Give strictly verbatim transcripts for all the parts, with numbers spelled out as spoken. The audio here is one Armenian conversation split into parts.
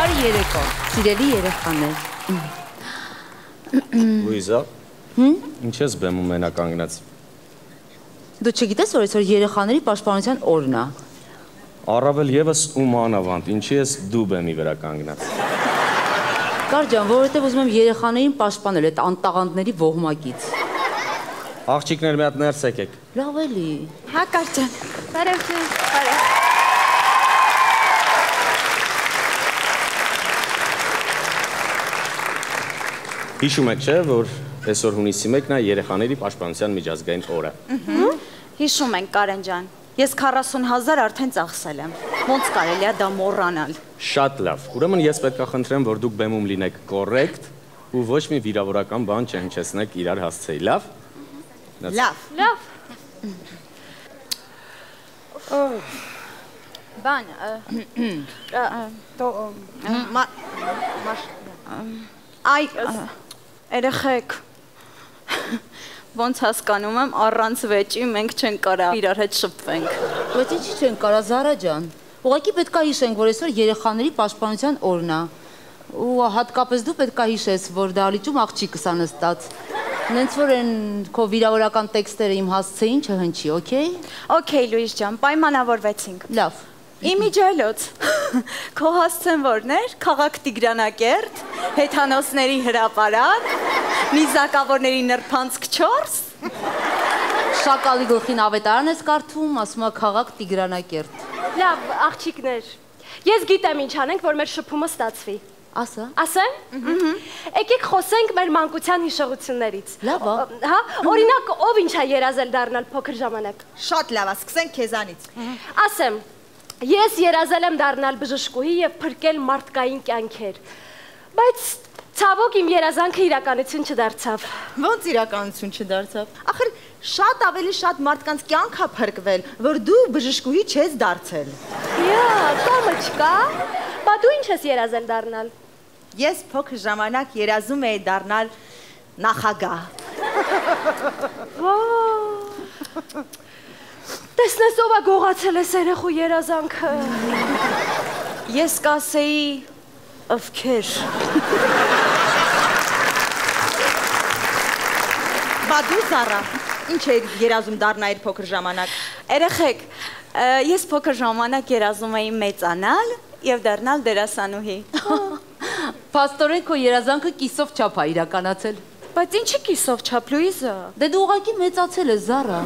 Բարի երեկո, սիրելի երեխաներ։ Լուիզա, ինչ ես բեմում մենակ կանգնած։ Դու չգիտես, որ այսօր երեխաների պաշտպանության օրն է։ Առավել եւս ում անավանդ, ինչի ես դու բեմի վրա կանգնած։ Կար ջան, որովհետև ուզում եմ երեխաներին պաշտպանել այդ անտաղանդների ոհմակից։ Աղջիկներ մի հատ ներս եկեք։ Լավ էլի։ Հա կար ջան։ Բարև ջան, բարև։ Հիշում եք չէ, որ այսօր հունիսի մեկն է երեխաների պաշտպանության միջազգային օրը։ Հիշում ենք Կարեն ջան։ Ես քառասուն հազար արդեն ծախսել եմ։ Ոնց կարելի է դա մոռանալ։ Շատ լավ։ Ուրեմն ես պետք է խնդրեմ, որ դուք բեմում լինեք կոռեկտ ու ոչ մի վիրավորական բան չհնչեցնեք իրար հասցեի, լավ։ Լավ։ Լավ։ Բան, այ երեխեք, ոնց հասկանում եմ, առանց վեճի մենք չենք կարա իրար հետ շփվենք։ Բայց ինչի չենք կարա Զարա ջան։ Ուղղակի պետք է հիշենք, որ այսօր երեխաների պաշտպանության օրն է։ Ու հատկապես դու պետք է հիշես, որ դահլիճում աղջիկս ա նստած։ Նենց որ են քո վիրավորական տեքստերը իմ հասցեին չհնչի, օքեյ։ Okay, Լուիզ ջան, պայմանավորվեցինք։ Լավ։ Իմիջայլոց, քո հասցեն որն էր, քաղաք Տիգրանակերտ, հեթանոսների հրապարակ, նիզակավորների նրբանցք չորս։ Շակալի գլխին ավետարան ես կարդում, ասում է քաղաք Տիգրանակերտ։ Լավ, աղջիկներ, ես գիտեմ ինչ անենք, որ մեր շփումը ստացվի։ Ասա։ Ասեմ։ Եկեք խոսենք մեր մանկության հիշողություններից։ Լավ է։ Հա, օրինակ, ով ինչ է երազել դառնալ փոքր ժամանակ։ Շատ լավ է, սկսենք քեզանից։ Ասեմ, ես երազել եմ դառնալ բժշկուհի եւ փրկել մարդկային կյանքեր։ Բայց ցավոք իմ երազանքը իրականություն չդարձավ։ Ոնց իրականություն չդարձավ։ Ախր շատ ավելի շատ մարդկանց կյանք է փրկվել, որ դու բժշկուհի չես դարձել։ Յա, կամը չկա։ Բա դու ինչ ես երազել դառնալ։ Ես փոքր ժամանակ երազում էի դառնալ նախագահ։ Տեսնես ով է գողացել ես երեխու երազանքը։ Ես կասեի ովքեր։ Բա դու Զարա, ինչ է երազում դառնայր փոքր ժամանակ։ Երեխեք, ես փոքր ժամանակ երազում էի մեծանալ եւ դառնալ դերասանուհի։ Փաստորեն քո երազանքը կիսով չափ է իրականացել։ Բայց ինչի կիսով չափ, Լուիզա։ Դե դու ուղղակի մեծացել ես Զարա։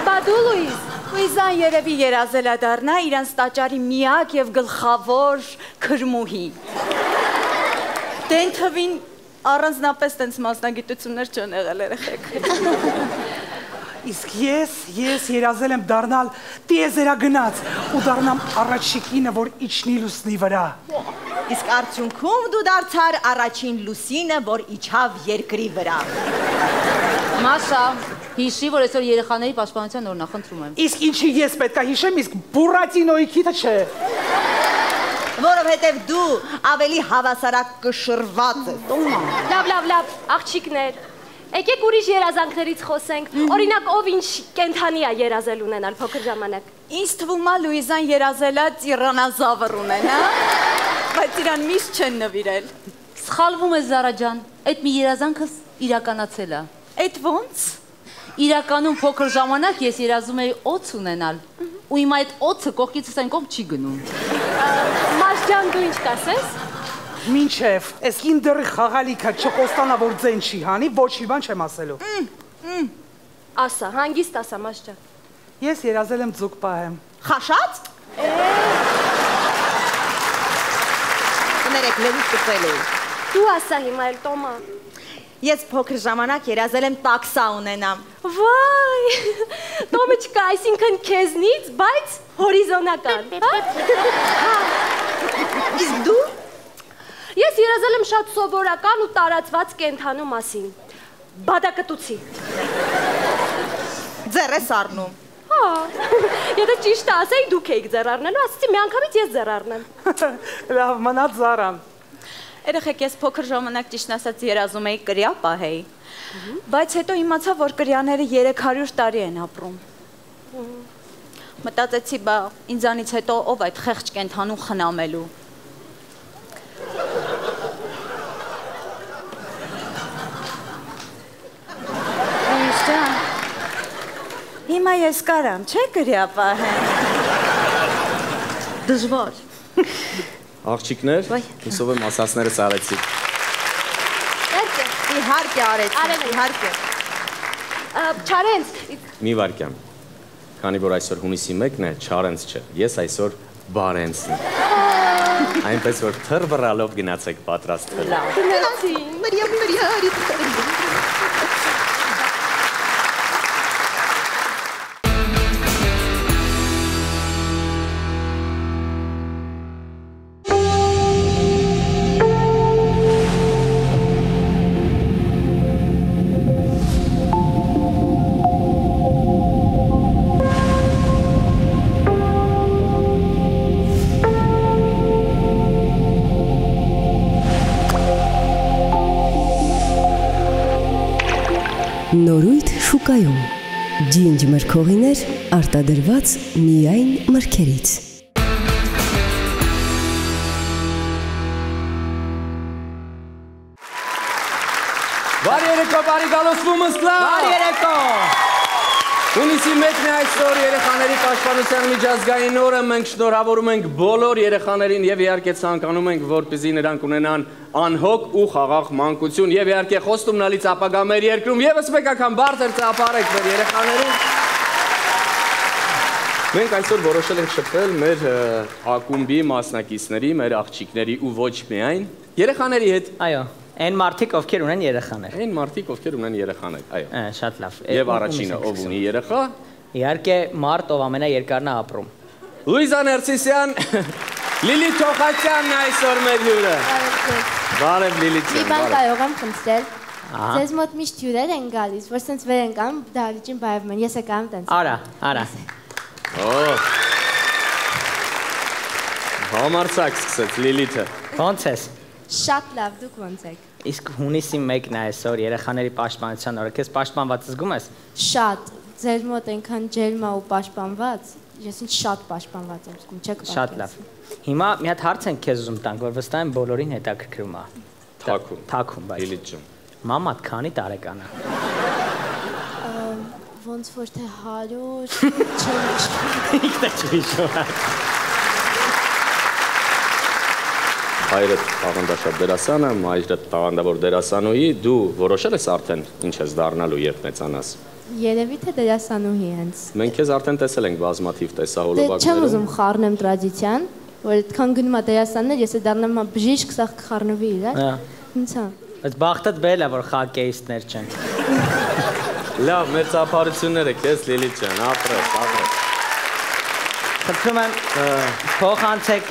Բա դու Լուիզ, Լուիզան երևի երազել է դառնա իրանց տաճարի միակ եւ գլխավոր քրմուհի։ Դեն թվին առանձնապես տենց մասնագիտություններ չեն եղել երեխեք։ Իսկ ես, ես երազել եմ դառնալ տիեզերագնաց ու դառնամ առաջիկինը, որ իջնի լուսնի վրա։ Իսկ արդյունքում դու դարձար առաջին լուսինը, որ իջավ երկրի վրա։ Մասա, հիշի, որ այսօր երեխաների պաշտպանության օրն է, խնդրում եմ։ Իսկ ինչի ես պետք է հիշեմ, իսկ Բուրատինոյի քիթը չէ։ Որովհետև դու ավելի հավասարակշռված ես։ լավ, լավ, լավ, աղջիկներ, եկեք ուրիշ երազանքներից խոսենք, օրինակ ով ինչ կենդանի է երազել ունենալ փոքր ժամանակ։ Ինձ թվում է Լուիզան երազել է տիրանոզավր ունենա, բայց իրան միշտ չեն նվիրել։ Սխալվում ես Զարա ջան, այդ մի երազանքս իրականացել է։ Այդ ո՞նց։ Իրականում փոքր ժամանակ ես երազում էի օձ ունենալ, ու հիմա այդ օձը կողքիցս այն կողմ չի գնում։ Մաս ջան, դու ինչ կասես։ Մինչև, ես իմ դեռի խաղալիքը չխոստանա, որ ձեն չի հանի, ոչ մի բան չեմ ասելու։ Ասա, հանգիստ ասա, Մաս ջան։ Ես երազել եմ ձուկ պահեմ։ Խաշած։ Կներեք, լևից կծել էի։ Դու ասա հիմա էլ Տոմա։ Ես փոքր ժամանակ երազել եմ տաքսա ունենամ։ Վայ, Տոմիչկա, այսինքն քեզնից, բայց հորիզոնական։ Իսկ դու։ Ես երազել եմ շատ սովորական ու տարածված կենդանու մասին։ Բադակտուցի։ Ձեռ ես առնում։ Հա, եթե ճիշտ ասեի, դուք էիք ձեռ առնելու, ասեցի մի անգամից ես ձեռ առնեմ։ Լավ, մնաց Զարան։ Երեխեք, ես փոքր ժամանակ ճիշտ ասած երազում էի կրյա պահեի, բայց հետո իմացա, որ կրյաները երեք հարյուր տարի են ապրում։ Մտածեցի, բա ինձանից հետո ով այդ խեղճ կենդանու խնամելու։ Հիմա ես կարամ, չէ՞ գրյապահեմ։ Դժվար։ Աղջիկներ, հուսով եմ ասածներս արեցիք։ Իհարկե արեցի, իհարկե։ Չարենց։ Մի վարքյան։ Քանի որ այսօր հունիսի մեկն է, Չարենց չէ, ես այսօր Բարենցն եմ։ Այնպես որ թռ վռալով գնացեք պատրաստվել։ Գնացի։ Մարիա, Մարիա, Նորույթ շուկայում, ջինջ մրգողիներ արտադրված միայն մրգերից։ Բարի երեկո, բարի գալոսվումս կլավ։ Բարի երեկո։ Հունիսի մեկն է այսօր երեխաների պաշտպանության միջազգային օրը, մենք շնորհավորում ենք բոլոր երեխաներին եւ իհարկե ցանկանում ենք, որպեսզի նրանք ունենան անհոգ ու խաղաղ մանկություն եւ իհարկե խոստումնալից ապագա մեր երկրում եւս մեկ անգամ բարձր ծափարեք մեր երեխաներին։ Մենք այսօր որոշել ենք շփվել մեր ակումբի մասնակիցների, մեր աղջիկների ու ոչ միայն երեխաների հետ։ Այո, այն մարդիկ, ովքեր ունեն երեխաներ։ Այն մարդիկ, ովքեր ունեն երեխաներ, այո։ Շատ լավ։ Եվ առաջինը ով ունի երեխա։ Իհարկե, մարդ, ով ամենաերկարն է ապրում։ Լուիզա Ներսիսյան, Լիլի Թոխացյանն այսօր մեր հյուրը։ Բարև Լիլիթ։ Մի բան կարող եմ խնդրել։ Ձեզ մոտ միշտ հյուրեր են գալիս, որ սենց վեր են գանում, դահլիճին բայվում են, ես եկամ տենց։ Արա, արա։ Օ։ Համարցակ սկսեց Լիլիթը։ Ոնց ես։ Շատ լավ, դուք ոնց եք։ Իսկ հունիսի մեկն է այսօր երեխաների պաշտպանության օրը։ Քեզ պաշտպանված զգում ես։ Շատ, ձեր մոտ այնքան ջերմա ու պաշտպանված, ես ինձ շատ պաշտպանված եմ զգում, չեք Շատ լավ։ Հիմա մի հատ հարց ենք քեզ ուզում տանք, որ վստահ եմ բոլորին հետաքրքրում է։ Թաքուն։ Թաքուն, բայց։ Լիլիթ ջան։ Մամատ քանի տարեկան է։ Ոնց որ թե հարյուր, Ինքն է չհիշում։ Հայրդ տաղանդաշատ դերասանը, մայրդ տաղանդավոր դերասանուհի, դու որոշել ես արդեն ինչ ես դառնալու երբ մեծանաս։ երևի թե դերասանուհի հենց։ Մենք քեզ արդեն տեսել ենք բազմաթիվ Դե տեսահոլովակներում։ չեմ ուզում խառնեմ տրադիցիան, որ այդքան գնում է դերասաններ, ես է դառնամ բժիշկ, սա կխառնվի իրար։ Ինձ հա։ Բայց բախտդ բերել է, որ խոկեյիստներ չեն։ Լավ, մեր ծափարությունները քեզ Լիլիթ ջան, ապրես, ապրես։ Խնդրում եմ փոխանցեք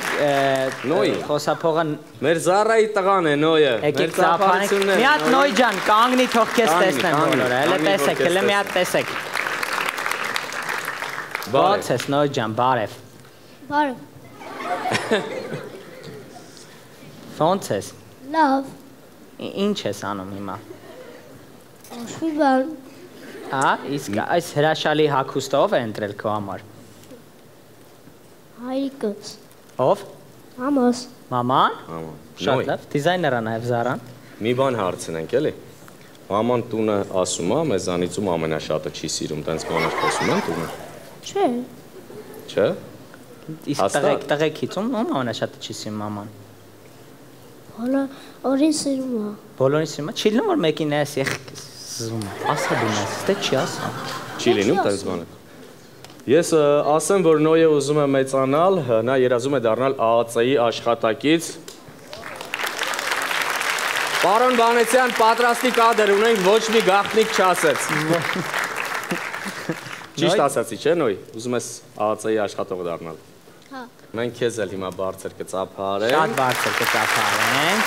Նոյ։ խոսափողը Մեր Զարայի տղան է Նոյը։ եկեք ծափանեք։ Մի հատ Նոյ ջան, կանգնի թող քեզ տեսնեմ բոլորը։ Հələ տեսեք, հələ մի հատ տեսեք։ Ոնց ես Նոյ ջան, բարև։ Բարև։ Ոնց ես։ Լավ, Ինչ ես անում հիմա։ ոչ մի բան։ Հա, իսկ այս հրաշալի հագուստը ով է ընտրել քո համար։ Հայրիկս։ Ով։ Մամաս։ Մաման։ Մաման։ Շատ լավ, դիզայները նաև Զարան։ Մի բան հարցնենք, էլի։ Մաման տունը ասում է, մեզանից ում ամենաշատը չի սիրում, տենց բաներ խոսում են տունը։ Չէ։ Չէ։ Իսկ տղեկ, տղեկից ում ում ամենաշատը չի սիրում մաման։ Հոլա, օրին սիրում է։ Բոլորին սիրում է։ Չի լինում որ մեկին էս եղ զում։ Ասա դու մեզ, դե չի ասա։ Չի լինում տենց բաներ։ Ես ասեմ, որ Նոյը ուզում է մեծանալ, նա երազում է դառնալ ԱԱՑ-ի աշխատակից։ Պարոն Բանեցյան, պատրաստի կադր ունենք, ոչ մի գաղտնիք չասեց։ Ճիշտ ասացի, չէ Նոյ, ուզում ես ԱԱՑ-ի աշխատող դառնալ։ Հա։ Մենք քեզ էլ հիմա բարձր կծափարենք։ Շատ բարձր կծափարենք։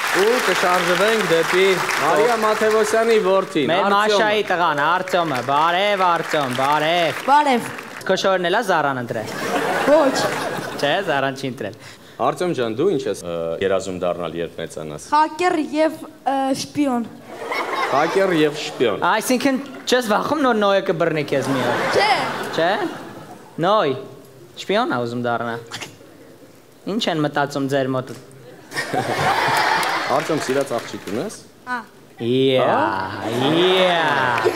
Ու կշարժվենք դեպի Մարիա Մաթևոսյանի որդին, Մեր Մաշայի տղան, Արտյոմը, բարև Արտյոմ, բարև։ Բարև։ Քո շորն էլա Զարան ընտրել։ Ոչ։ Չէ, Զարան չի ընտրել։ Արտյոմ ջան, դու ինչ ես երազում դառնալ երբ մեծանաս։ Հակեր եւ շպիոն։ Հակեր եւ շպիոն։ Այսինքն չես վախում նոր Նոյը կբռնի քեզ մի օր։ Չէ։ Չէ։ Նոյ, շպիոն ա ուզում դառնա։ Ինչ են մտածում ձեր մոտ։ Արտյոմ սիրած աղջիկ ունես։ Հա։ Yeah, yeah։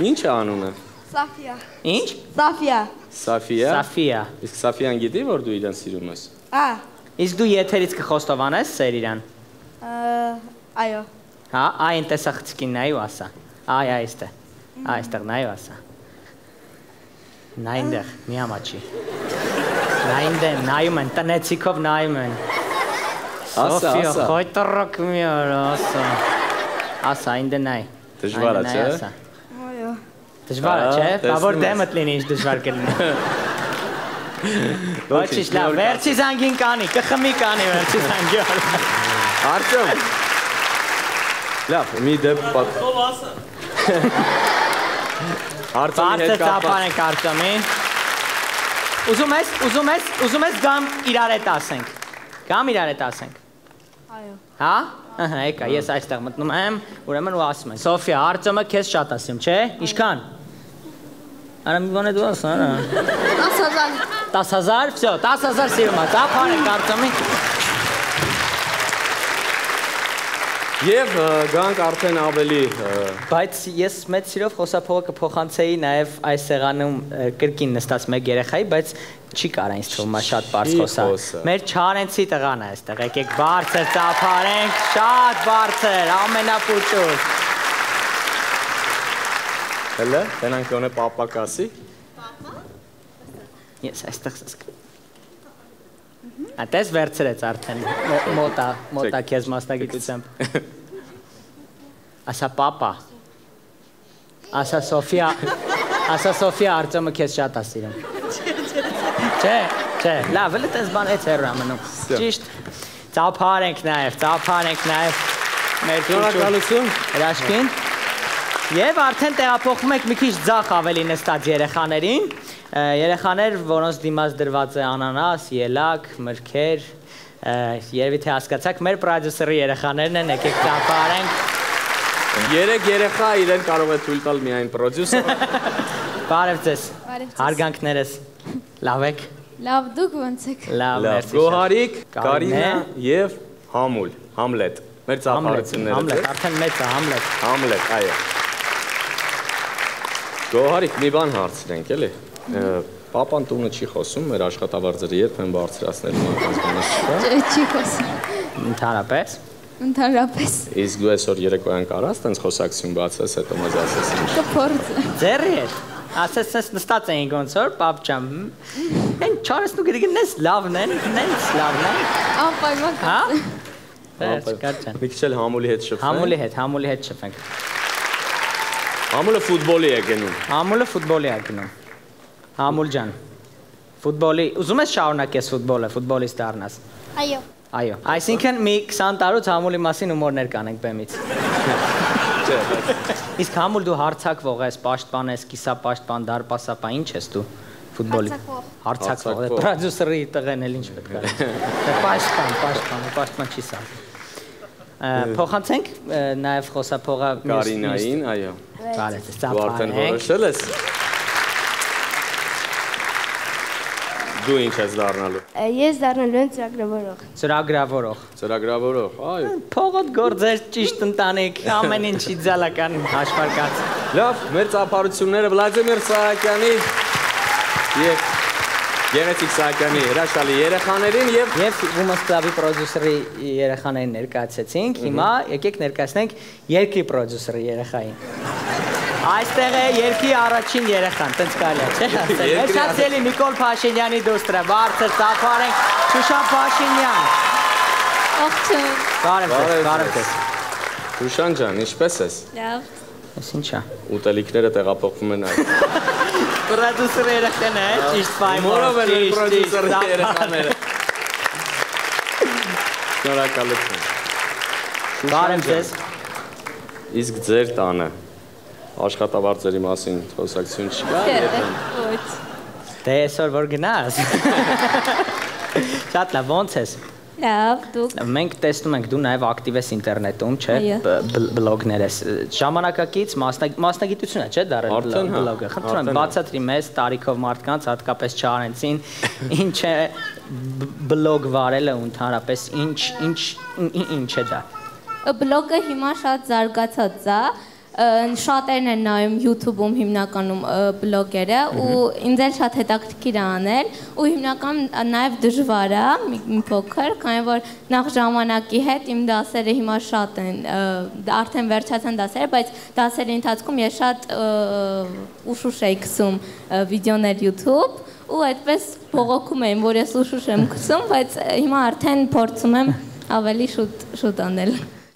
Ինչ է անունը։ Սաֆիա։ Ինչ։ Սաֆիա։ Սաֆիա։ Սաֆիա։ Իսկ Սաֆիան գիտի, որ դու իրան սիրում ես։ Ա։ Իսկ դու եթերից կխոստովանես սեր իրան։ Այո։ Հա, այն տեսախցկին նայու ասա։ Այ այստեղ։ Այստեղ նայու ասա։ Նայնդեղ, մի ամաչի։ Նայնդեմ, նայում են, տնեցիքով նայում են։ Ասա, Սոֆիա, ասա։ խոյտրոք մի օր, ասա։ Ասա, ինձ նայ։ Դժվար է, չէ՞։ Այո։ Դժվար է, չէ՞։ Բա որ դեմդ լինի, ինչ դժվար կլինի։ Ոչինչ, լավ, վերջի զանգին կանի, կխմի կանի վերջի զանգի։ Արտյոմ։ Լավ, մի դեպք պատ։ Ով ասա։ Արտյոմի հետ Բարձր ծափար ենք Արտյոմին։ Ուզում ես, ուզում ես, ուզում ես գամ իրար հետ ասենք։ Գամ իրար հետ ասենք։ Այո։ Հա? Ահա, եկա, ես այստեղ մտնում եմ, ուրեմն ու ասում եմ։ Սոֆիա, Արտյոմը քեզ շատ ասում, չէ՞։ Ինչքան։ Արա մի բան է դու ասա, արա։ տասը հազար։ տասը հազար, վсё, տասը հազար սիրում է, ծափար ենք Արտյոմին։ Եվ գանք արդեն ավելի Բայց ես մեծ սիրով խոսափողը կփոխանցեի նաև այս սեղանում կրկին նստած մեկ երեխայի, բայց չի կարա ինձ թվում է շատ բարձ խոսա։ Մեր Չարենցի տղան է այստեղ, եկեք բարձր ծափարենք, շատ բարձր, ամենապուճուր։ Հələ, տենանք գոնե պապա կասի։ Ես այստեղ սսկ։ Ատես վերցրեց արդեն, մոտա, մոտա քեզ մասնագիտությամբ։ Ասա պապա, ասա Սոֆիա, ասա Սոֆիա Արտյոմը քեզ շատ է սիրում։ Չէ, չէ, լավ, էլ տես բան էց հեռու ամնում։ Ճիշտ, ծափար ենք նաև, ծափար ենք նաև մեր Շնորհակալություն հրաշքին։ Եվ արդեն տեղափոխում ենք մի քիչ ձախ ավելի նստած երեխաներին, երեխաներ, որոնց դիմաց դրված է անանաս, ելակ, մրգեր, երևի թե հասկացաք, մեր պրոդյուսերի երեխաներն են, եկեք ծափարենք։ Երեք երեխա իրեն կարող է թույլ տալ միայն պրոդյուսերը։ Բարև ձեզ։ Բարև ձեզ։ Հարգանքներս։ Լավ եք։ Լավ, դուք ո՞նց եք։ Լավ, Լավ, մերսի։ Գոհարիկ, Կարինա եւ Համուլ, Համլետ։ Մեր ծափարությունները։ Համլետ, արդեն մեծ է, Համլետ։ Համլետ, այո։ Գոհարիկ, մի բան հարցրենք, էլի։ Պապան տունը չի խոսում, մեր աշխատավարձերը երբեմն բարձրացնել մանկանց բանից չկա։ Չէ, չի խոսում։ Ընդհանրապես։ Ընդհանրապես։ Իսկ դու այսօր երեկոյան կարաս տենց խոսակցություն բացես, հետո մեզ ասես ինչ։ Կփորձ։ Ձեռի հետ։ Ասես ես նստած էինք ոնց որ, պապ ջան։ Են չարես դու գնես լավն են, նենց լավն են։ Անպայման։ Հա։ Վերջ, կարճան։ Մի քիչ էլ Համուլի հետ շփվենք։ Համուլի հետ, Համուլի հետ շփվենք։ Համուլը ֆուտբոլի է գնում։ Համուլը ֆուտբոլի է գնում։ Համուլ ջան։ Ֆուտբոլի, ուզում ես շարունակես ֆուտբոլը, ֆուտբոլիստ դառնաս։ Այո։ Այո։ Այսինքն մի քսան տարուց Համուլի մասին հումորներ կանենք բեմից։ Չէ, Իսկ Համուլ դու հարցակվող ես, պաշտպան ես, կիսապաշտպան, դարպասապա, ինչ ես դու ֆուտբոլի։ Հարցակվող։ Պրոդյուսերի տղեն էլ ինչ պետք է։ Պաշտպան, պաշտպան, պաշտպան չի սա։ Փոխանցենք նաև խոսափողը Կարինային, այո։ Բարև, Դու արդեն ծափարենք։ որոշել ես։ Դու ինչ ես դառնալու։ Ես դառնալու եմ ծրագրավորող։ Ծրագրավորող։ Ծրագրավորող, այո։ Փողոտ գործեր, ճիշտ ընտանիք, ամեն ինչի ձալական հաշվարկած։ Լավ, մեր ծափարությունները Վլադիմիր Սահակյանի եւ Գեղեցիկ Սահակյանի հրաշալի երեխաներին եւ Եվ Women's Club-ի պրոդյուսերի երեխաներին ներկայացեցինք, հիմա եկեք ներկայացնենք երկրի պրոդյուսերի երեխային։ Այստեղ է երկրի առաջին երեխան, տենց կարելի է, չէ՞ ասել։ Մեջացելի Նիկոլ Փաշինյանի դուստրը, բարձր ծափարենք Շուշան Փաշինյան։ Ողջույն։ Բարև ձեզ, բարև ձեզ։ Շուշան ջան, ինչպե՞ս ես։ Լավ։ Էս ինչա։ Ուտելիքները տեղափոխվում են այ։ Պրոդյուսերի երեխան է, ճիշտ պայման։ Մորով են մեր պրոդյուսերի երեխաները։ Շնորհակալություն։ Բարև ձեզ։ Իսկ ձեր տանը աշխատավարձերի մասին խոսակցություն չկա երբեմն։ Ոչ։ Դե այսօր որ գնաս։ Շատ լավ, ոնց ես։ Լավ, դուք։ Մենք տեսնում ենք դու նաև ակտիվ ես ինտերնետում, չէ՞, բլոգներ ես։ Ժամանակակից մասնագիտություն է, չէ՞, դառել բլոգը։ Խնդրում եմ, բացատրի մեզ տարիքով մարդկանց, հատկապես Չարենցին, ինչ է բլոգ վարելը ու ընդհանրապես ինչ ինչ ինչ է դա։ Բլոգը հիմա շատ զարգացած է։ շատերն են նայում YouTube-ում հիմնականում բլոգերը ու ինձ էլ շատ հետաքրքիր է անել ու հիմնական նաև դժվար է մի փոքր, քանի որ նախ ժամանակի հետ իմ դասերը հիմա շատ են, արդեն վերջացան դասերը, բայց դասերի ընթացքում ես շատ ուշուշ էի գցում վիդեոներ YouTube ու այդպես բողոքում եմ, որ ես ուշուշ եմ գցում, բայց հիմա արդեն փորձում եմ ավելի շուտ շուտ անել։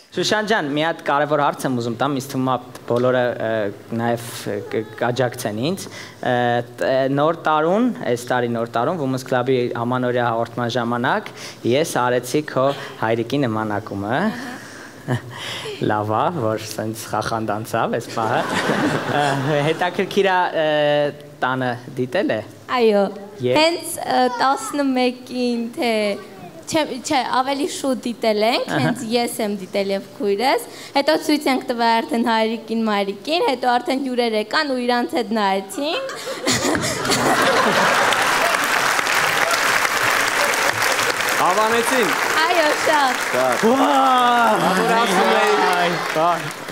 Շուշան ջան, մի հատ կարևոր հարց եմ ուզում տամ, ինձ թվում է բոլորը նաև կաջակցեն ինձ։ Նոր տարուն, այս տարի նոր տարուն, Women's Club-ի ամանորյա հաղորդման ժամանակ ես արեցի քո հայրիկի նմանակումը։ Լավ է, որ սենց խախանդ անցավ այս պահը։ Հետաքրքիր է տանը դիտել է։ Այո, հենց տասնմեկին թե Չէ, ավելի շուտ դիտել ենք, հենց ես եմ դիտել և քույրս, հետո ցույց ենք տվել արդեն հայրիկին, մայրիկին, հետո արդեն հյուրեր եկան ու իրանց հետ նայեցինք։ Հավանեցին։ Այո, շատ։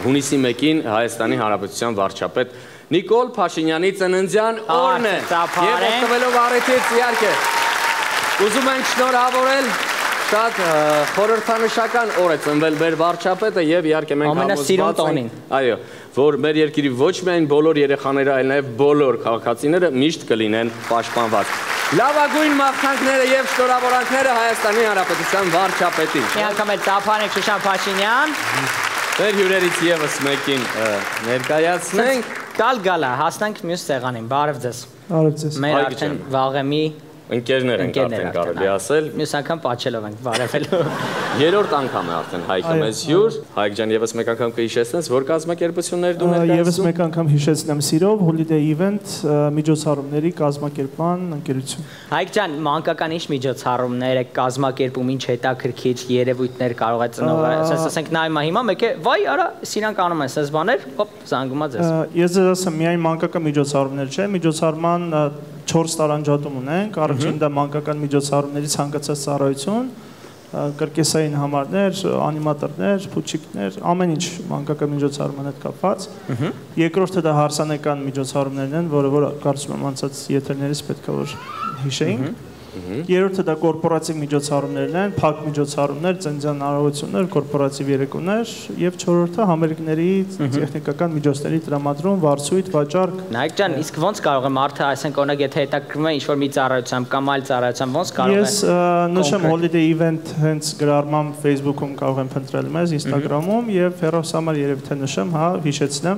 Հունիսի մեկին Հայաստանի Հանրապետության վարչապետ Նիկոլ Փաշինյանի ծննդյան օրն է։ Եվ օգտվելով առիթից իհարկե ուզում ենք շնորհավորել շատ խորհրդանշական օր է ծնվել մեր վարչապետը եւ իհարկե մենք ամենասիրուն տոնին։ Այո, որ մեր երկրի ոչ միայն բոլոր երեխաները, այլ նաեւ բոլոր քաղաքացիները միշտ կլինեն պաշտպանված։ Լավագույն մաղթանքները եւ շնորհավորանքները Հայաստանի Հանրապետության վարչապետին։ Մի անգամ էլ տափանեք Շուշան Փաշինյան։ Մեր հյուրերից եւս մեկին ներկայացնենք։ Գալ գալա, հասնենք մյուս սեղանին։ Բարև ձեզ։ Բարև ձեզ։ Մեր արդեն վաղեմի ընկերներ ենք արդեն կարելի ասել։ Մյուս անգամ պատճելով ենք բարևելու։ Երրորդ անգամ է արդեն Հայկը մեզ հյուր։ Հայկ ջան, եւս մեկ անգամ կհիշեցնես, որ կազմակերպություններ դու ներկայացնում։ Եվս մեկ անգամ հիշեցնեմ սիրով Holiday Event միջոցառումների կազմակերպման ընկերություն։ Հայկ ջան, մանկական ինչ միջոցառումներ եք կազմակերպում, ինչ հետաքրքիր երևույթներ կարող է ծնողը։ Ասենք նայում հիմա մեկ է, վայ, արա, սրանք անում են սենց բաներ, հոպ, զանգում է ձեզ։ Ես ձեզ ասեմ, միայն մանկական միջոցառումներ չէ, միջոցառման չորս տարանջատում ունենք, առաջին դա մանկական միջոցառումների ցանկացած ծառայություն, կրկեսային համարներ, անիմատորներ, փուչիկներ, ամեն ինչ մանկական միջոցառման հետ կապված։ Երկրորդը դա հարսանեկան միջոցառումներն են, որը որ կարծում եմ անցած եթերներից պետք է որ հիշեինք։ Երրորդը դա կորպորատիվ միջոցառումներն են, փակ միջոցառումներ, ծննդյան արարողություններ, կորպորատիվ երեկոներ, եւ չորրորդը համերգների տեխնիկական միջոցների տրամադրում, վարձույթ, վաճառք։ Նայեք ջան, իսկ ո՞նց կարող է մարդը, այսինքն օրինակ եթե հետաքրքրվում է ինչ-որ մի ծառայությամբ կամ այլ ծառայությամբ, ո՞նց կարող է։ Ես նշեմ Holiday Event հենց գրառմամբ Facebook-ում կարող եմ փնտրել մեզ, Instagram-ում եւ հեռախոսամար երևի թե նշեմ, հա, հիշեցնեմ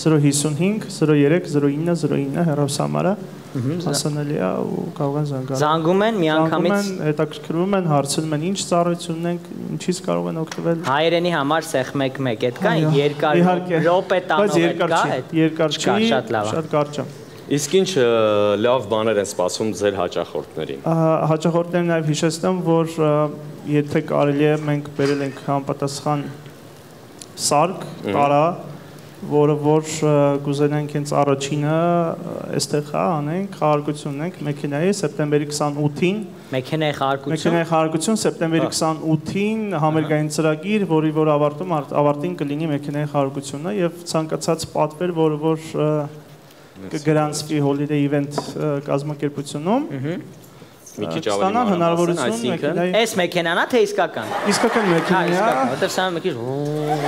zero five five zero three zero nine zero nine հեռախոսամարը հասանելի է ու կարող են զանգել։ Զանգում են միանգամից, հետաքրքրվում են, հարցնում են ինչ ծառայություն ունենք, ինչից կարող են օգտվել։ Հայերենի համար սեղ մեկ մեկ այդ կա, երկար րոպե տանող այդ կա, երկար չի, շատ լավ է։ Շատ կարճ է։ Իսկ ինչ լավ բաներ են սպասում ձեր հաճախորդներին։ Հաճախորդներին նաև հիշեցնեմ, որ եթե կարելի է մենք բերել ենք համապատասխան սարք, տարա, որը որ կուզենանք հենց առաջինը այստեղ անենք, խաղարկություն ունենք մեքենայի սեպտեմբերի քսանութին։ Մեքենայի խաղարկություն։ Մեքենայի խաղարկություն սեպտեմբերի քսանութին համերգային ծրագիր, որի որ ավարտում ավարտին կլինի մեքենայի խաղարկությունը եւ ցանկացած պատվեր, որը որ կգրանցվի Holiday Event կազմակերպությունում։ Մի քիչ ավելի հնարավորություն մեքենայի։ Այս մեքենան է թե իսկական։ Իսկական մեքենա է։ Որտեվ սա մի քիչ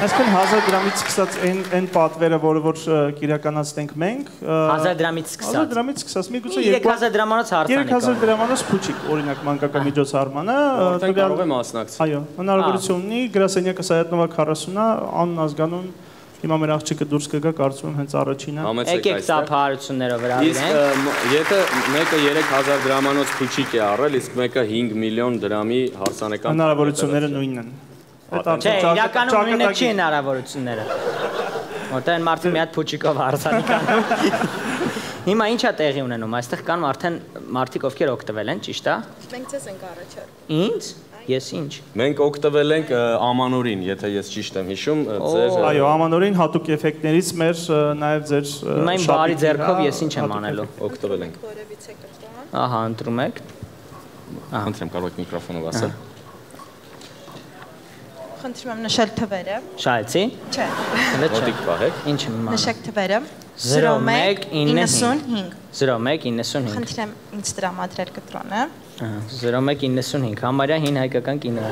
այսքան հազար դրամից սկսած այն այն պատվերը, որը որ կիրականացնենք մենք, հազար դրամից սկսած։ հազար դրամից սկսած միգուցե երեք հազար դրամանոց հարցանեք։ երեք հազար դրամանոց փուչիկ, օրինակ մանկական միջոցառմանը, կարող է մասնակցել։ Այո, հնարավորություն ունի, գրասենյակը Սայատնովա քառասունը, անուն ազգանուն Հիմա մեր աղջիկը դուրս կգա, կարծում եմ հենց առաջինը։ Եկեք ծափահարություններով վրավիրենք։ Իսկ եթե մեկը երեք հազար դրամանոց փուչիկ է առել, իսկ մեկը հինգ միլիոն դրամի հարսանեկան հնարավորությունները նույնն են։ Չէ, իրականում նույնը չի հնարավորությունները։ Որտեղ մարդը մի հատ փուչիկով հարսանեկան։ Հիմա ի՞նչ է տեղի ունենում։ Այստեղ կան արդեն մարդիկ, ովքեր օգտվել են, ճիշտ է։ Մենք ցես ենք առաջարկում։ Ինչ։ Ես ինչ։ Մենք օգտվել ենք ամանորին, եթե ես ճիշտ եմ հիշում, ձեր Այո, ամանորին հատուկ էֆեկտներից մեր նաև ձեր Հիմա իմ բարի ձեռքով ես ինչ եմ անելու։ Օգտվել ենք։ Որևիցե կրտան։ Ահա, ընտրում եք։ Խնդրեմ, կարող եք միկրոֆոնով ասել։ խնդրում եմ նշել թվերը։ Շահեցի։ Չէ։ Մոտիկ պահեք։ Ինչ եմ իմանում։ Նշեք թվերը։ zero one ninety-five zero one ninety-five Խնդրեմ ինձ տրամադրել կտրոնը։ Ահա zero one ninety-five համարյա հին հայկական կինո։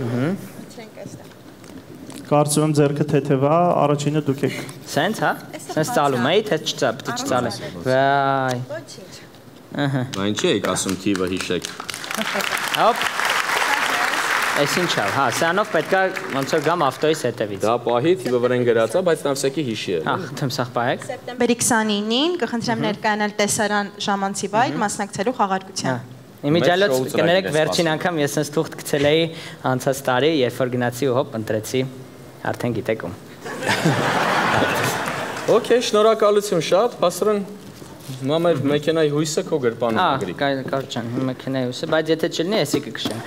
Ահա։ Կարծում եմ ձերքը թեթևա, առաջինը դուք եք։ Սենց, հա։ Սենց ծալում էի, թե չծա, պիտի չծալես։ Վայ։ Ահա։ Բա ինչի եք ասում թիվը հիշեք։ Հոպ։ Այս ինչ է, հա, սրանով պետքա ոնց որ գամ ավտոյից հետևից։ Դա պահի թիվը վրան գրած է, բայց նավսեկի հիշի է։ Հա, թեմ սախ պահեք։ Սեպտեմբերի twenty-ninth-ին կխնդրեմ ներկայանալ տեսարան ժամանցի վայր մասնակցելու խաղարկության։ Իմիջիալոց կներեք վերջին անգամ ես sense թուղթ գցել էի անցած տարի, երբ որ գնացի ու հոպ ընտրեցի, արդեն գիտեք ում։ Okay, շնորհակալություն շատ, Բասրան։ Հիմա մեր մեքենայի հույսը քո գրպանում գրի։ Հա, կար ջան, մեքենայի հույսը, բայց եթե չլինի, էսի կքշենք։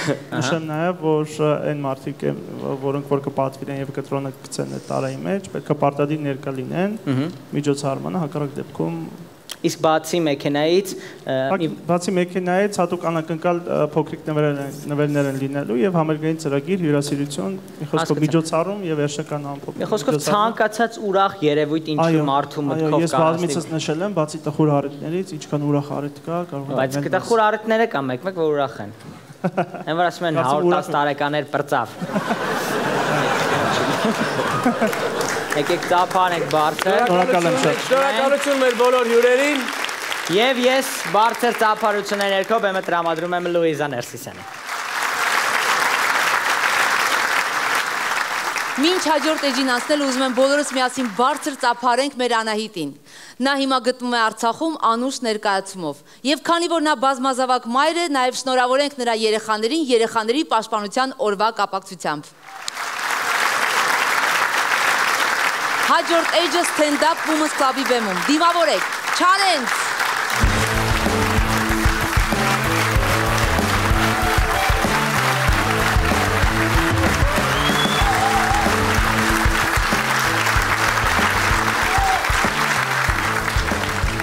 Նշեմ նաև, որ այն մարդիկ, որոնք որ կպատվիրեն եւ կտրոնը գցեն այդ տարայի մեջ, պետք է պարտադիր ներկա լինեն միջոցառմանը, հակառակ դեպքում Իսկ բացի մեքենայից, բացի մեքենայից հատուկ անակնկալ փոքրիկ նվերներ են լինելու եւ համերգային ծրագիր, հյուրասիրություն, մի խոսքով միջոցառում եւ վերջնական ամփոփ։ Մի խոսքով ցանկացած ուրախ երևույթ ինչ-որ մարդու մտքով Ես բազմիցս նշել եմ, բացի տխուր առիթներից, ինչքան ուրախ առիթ կա, կարող է։ Բայց տխուր առիթները կա մեկ-մեկ, որ ուրախ են։ Այն որ ասում են one hundred ten տարեկաներ բրծավ։ Եկեք ծափանեք բարձր։ Շնորհակալություն մեր բոլոր հյուրերին։ Եվ ես բարձր ծափարությունների ներքո բեմը տրամադրում եմ Լուիզա Ներսիսյանին։ Մինչ հաջորդ էջին անցնել ուզում եմ բոլորս միասին բարձր ծափարենք մեր Անահիտին։ Նա հիմա գտնվում է Արցախում անուշ ներկայացումով։ Եվ քանի որ նա բազմազավակ մայր է, նաև շնորհավորենք նրա երեխաներին երեխաների պաշտպանության օրվա կապակցությամբ։ Հաջորդ էջը Stand-up Women's Club-ի բեմում։ Դիմավորեք, challenge։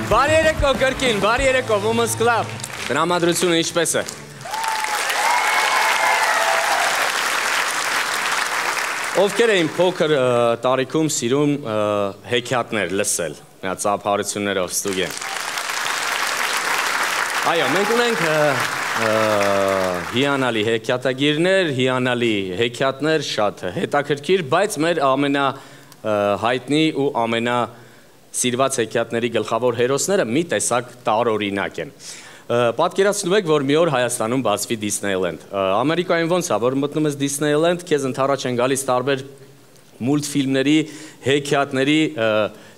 Բարի երեկո կրկին, բարի երեկո Women's Club։ Տրամադրությունը ինչպես է։ Ովքեր էին փոքր տարիքում սիրում հեքիաթներ լսել, նա ծափարություններով ստուգեն։ Այո, մենք ունենք հիանալի հեքիաթագիրներ, հիանալի հեքիաթներ, շատ հետաքրքիր, բայց մեր ամենահայտնի ու ամենա սիրված հեքիաթների գլխավոր հերոսները մի տեսակ տարօրինակ են։ Պատկերացնում եք, որ մի օր Հայաստանում բացվի Disneyland։ Ամերիկայում ոնց է, որ մտնում ես Disneyland, քեզ ընդառաջ են գալիս տարբեր մուլտֆիլմների, հեքիաթների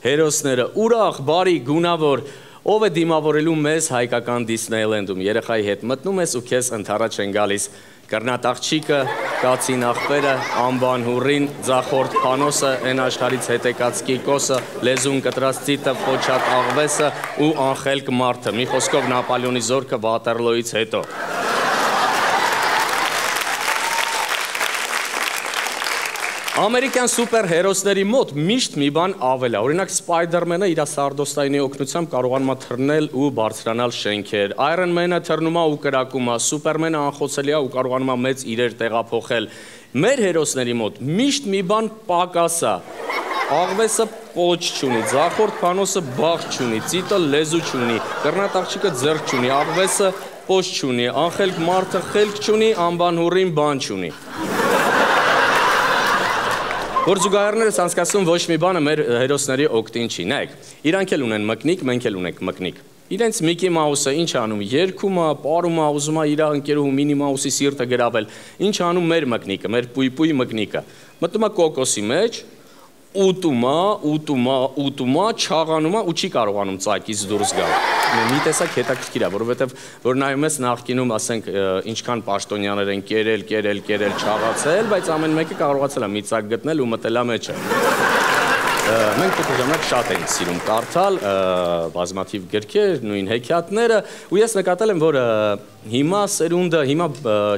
հերոսները, ուրախ, բարի, գունավոր, ով է դիմավորելու մեզ հայկական Disneyland-ում, երեխայի հետ մտնում ես ու քեզ ընդառաջ են գալիս Կռնատ աղջիկը, կացին աղբերը, անբան հուրին, ձախորդ փանոսը, են աշխարից հետեկած կիկոսը, լեզուն կտրած ծիտը, փոչատ աղվեսը ու անխելք մարդը, մի խոսքով Նապոլեոնի զորքը Վատերլոյից հետո։ Ամերիկյան սուպեր հերոսների մոտ միշտ մի բան ավել է, օրինակ Սպայդերմենը իր սարդոստայնի օգնությամբ կարողանում է թռնել ու բարձրանալ շենքեր, Iron Man-ը թռնում է ու կրակում է, Սուպերմենը անխոցելի է ու կարողանում է մեծ իրեր տեղափոխել։ Մեր հերոսների մոտ միշտ մի բան պակաս է, աղվեսը պոչ չունի, ձախորդ փանոսը բաղ չունի, ծիտը լեզու չունի, կռնատ աղջիկը ձեռք չունի, աղվեսը պոչ չունի, անխելք մարդը խելք չունի, անբան հուրին բան չունի։ Որ զուգահեռներս անցկացնում ոչ մի բանը մեր հերոսների օգտին չի, նայեք, իրանք էլ ունեն մկնիկ, մենք էլ ունենք մկնիկ։ Իրենց Միկի Մաուսը ինչ անում, երգում է, պարում է, ուզում է իր ընկերուհու Մինի Մաուսի սիրտը գրավել, ինչ անում մեր մկնիկը, մեր պույպույի մկնիկը։ Մտնում է կոկոսի մեջ, ուտում է, ուտում է, ուտում է, չաղանում է ու չի կարողանում ծակից դուրս գալ։ Մի տեսակ հետաքրքիր է, որովհետև որ նայում ես նախկինում, ասենք, ինչքան պաշտոնյաներ են կերել, կերել, կերել, չաղացել, բայց ամեն մեկը կարողացել է մի ծակ գտնել ու մտել է մեջը։ Մենք փոքր ժամանակ շատ ենք սիրում կարդալ, բազմաթիվ գրքեր, նույն հեքիաթները, ու ես նկատել եմ, որ հիմա սերունդը, հիմա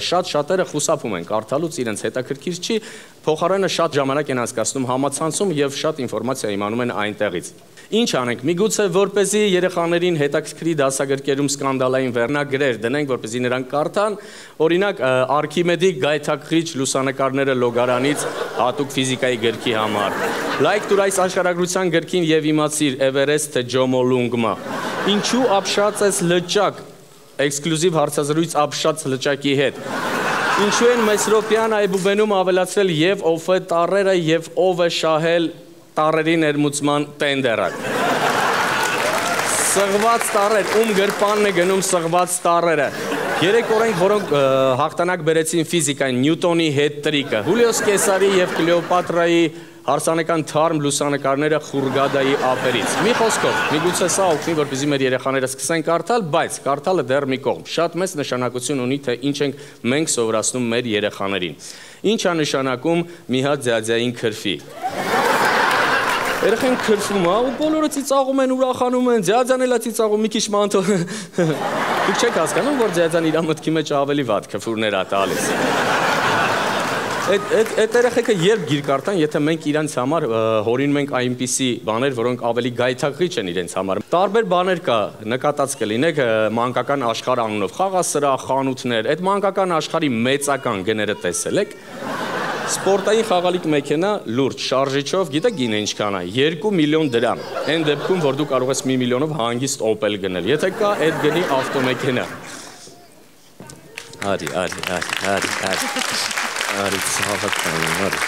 շատ շատերը խուսափում են կարդալուց, իրենց հետաքրքիր չի, փոխարենը շատ ժամանակ են անցկացնում համացանցում եւ շատ ինֆորմացիա իմանում են այնտեղից։ Ինչ անենք, միգուցե որպեսզի երեխաներին հետաքրքրի դասագրքերում սկանդալային վերնագրեր դնենք, որպեսզի նրանք կարդան, օրինակ Արքիմեդի գայթակղիչ լուսանկարները լոգարանից հատուկ ֆիզիկայի գրքի համար։ Լայք տուր այս աշխարհագրության գրքին եւ իմացիր Էվերեստ թե Ջոմոլունգմա։ Ինչու ապշած ես լճակ, էքսկլյուզիվ հարցազրույց ապշած լճակի հետ։ Ինչու են Մեսրոպյան այբուբենում ավելացրել եւ ով է տառերը եւ ով է շահել տառերի ներմուծման տենդերը։ Սղված տառեր, ում գրպանն է գնում սղված տառերը։ Երեք օրենք, որոնք հաղթանակ բերեցին ֆիզիկային, Նյուտոնի հետ տրիկը, Հուլիոս Կեսարի եւ Կլեոպատրայի հարսանեկան թարմ լուսանկարները Խուրգադայի ափերից։ Մի խոսքով, միգուցե սա օգնի, որպեսզի մեր երեխաները սկսեն կարդալ, բայց կարդալը դեռ մի կողմ։ Շատ մեծ նշանակություն ունի, թե ինչ ենք մենք սովորացնում մեր երեխաներին։ Ինչ է նշանակում մի հատ ձյաձյային քրֆի։ Երեխեն քրֆում է, ու բոլորը ծիծաղում են, ուրախանում են, ձյաձան էլ է ծիծաղում, մի քիչ մանթո։ Դուք չեք հասկանում, որ ձյաձան իր մտքի մեջ ավելի վատ քֆուրներ է տալիս։ Այդ երեխեքը երբ գիր կարդան, եթե մենք իրենց համար հորինում ենք այնպիսի բաներ, որոնք ավելի գայթակղիչ են իրենց համար։ Տարբեր բաներ կա, նկատած կլինեք մանկական աշխարհ անունով, խաղասրահ, խանութներ, այդ մանկական աշխարհի մեծական գները տեսել եք։ Սպորտային խաղալիք մեքենա լուրջ շարժիչով, գիտեք գինը ինչքան է, երկու միլիոն դրամ։ Այն դեպքում, որ դու կարող ես մի միլիոնով հանգիստ Opel գնել։ Եթե կա այդ գնի ավտոմեքենա։ Արի, արի, արի, արի, արի։ Արի, ցավական, արի։